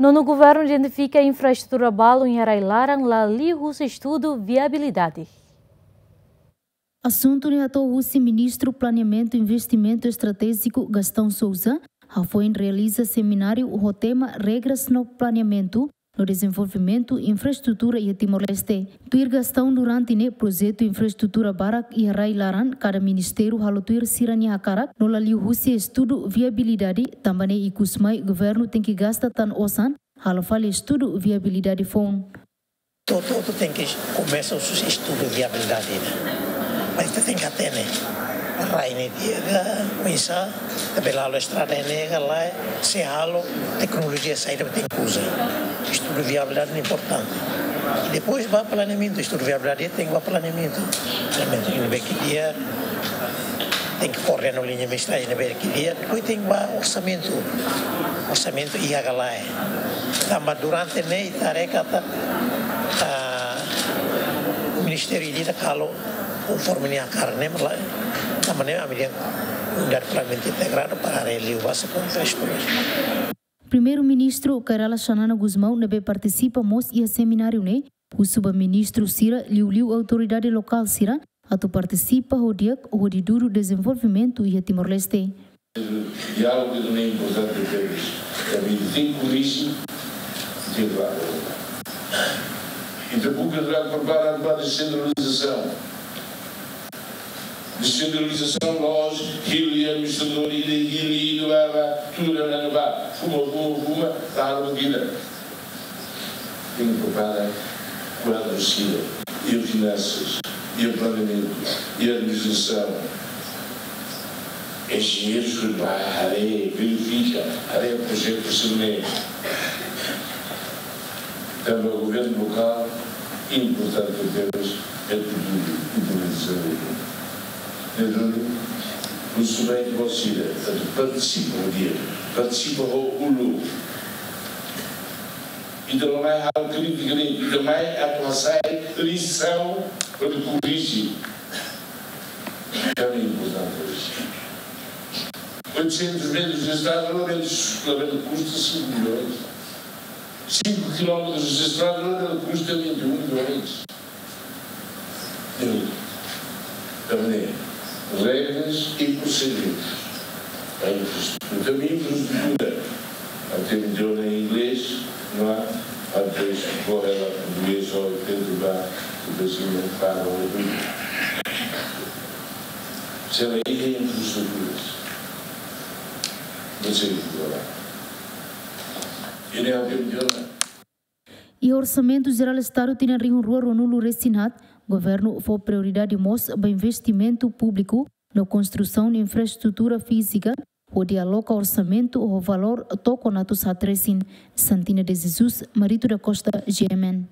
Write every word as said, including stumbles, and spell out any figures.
Nonu, governu identifika infraestrutura balun iha rai-laran la liu husi estudu viabilidade. Asuntu ne'e hato'o husi Ministru Planeamentu Investimentu Estratéjiku, Gastão Sousa, hafoin realiza semináriu ho tema Regras no Planeamentu no Dezenvolvimentu Infraestrutura iha Timor-Leste. Tuir Gastão, durante ne'e projetu infraestrutura barak iha rai-laran kada ministériu halo tuir sira-nia hakarak no la liu husi estudu viabilidade, tanba ne'e ikus mai governu tenke gasta tan osan halo fali estudu viabilidade foun. Hotu-hotu tenke komesa husi estudu viabilidade ne'e. Mas ita tenke hatene rai ne'e di'ak ka, oinsá, ita bele halo estrada ne'e ka lae, se halo, teknolojia saida ita tenke uza. Estudu viabilidade ne'e importante. I depois ba planeamentu, estudu viabilidade tenke ba planeamentu. Planeamentu ne'ebé ke di'ak, tenke koordena ho liña mestragem ne'ebé ke di'ak, depois tenke ba orsamentu. Orsamentu iha ka lae. Tanba durante ne'e ita haree katak, ah, ministériu ida-idak halo konforme nia hakarak ne'e, mas lae, tanba ne'e ami-nia unidade planeamentu integradu para haree liu ba se kontra estudu. Primeiru-Ministru Kay Rala Xanana Gusmão, ne'ebé partisipa mós iha semináriu ne'e, husu ba ministru sira, liuliu autoridade lokál sira, atu partisipa ho di'ak hodi dudu dezenvolvimentu iha Timor-Leste. Diálogu ne'e importante tebes. Tanba ita tenke korrije, ita tenke ba. Ita buka atu prepara ba desentralizasaun. Desentralizasaun la'ós hili administradór ida, hili ida, ba, ba, tuur iha ne'ebá, fuma, fuma, fuma, taruh gila. Tenke prepara kuadru sira, iha finansas, iha planeamentu, iha administrasaun. Enjeñeiru sira ba haree, verifika, haree projetu sira-ne'e. Tanba governu lokál importante tebes, é tudo implementasaun. Ne'e duni, husu ba ita-boot sira atu partisipa ho di'ak, partisipa ho uluk. Ita la mai halo krítika de'it, ita mai atu hasai lisaun hodi korrije. Ne'e importante. Oitocentos metros de estrada, labele, labele kusta cinco milhões. Cinco quilómetros de estrada, labele kusta vinte e um milhões. Entende? Tanba ne'e, regras e procedimentus. A infraestrutura, também infraestrutura. Até me deu em inglês, não é? Às vezes, corre lá português, ou tento dar o pezinho para o outro. Se ela é infraestrutura, não sei o que lá. Ele é o que me deu, não é? Iha Orsamentu Jerál Estadu tinan rihun rua ruanulu-resin-haat, governu fó prioridade mós ba investimentu públiku no konstrusaun infraestrutura fízika, hodi aloka orsamentu ho valór tokon atus haat resin. Santina de Jesus, Marito da Costa, G M N.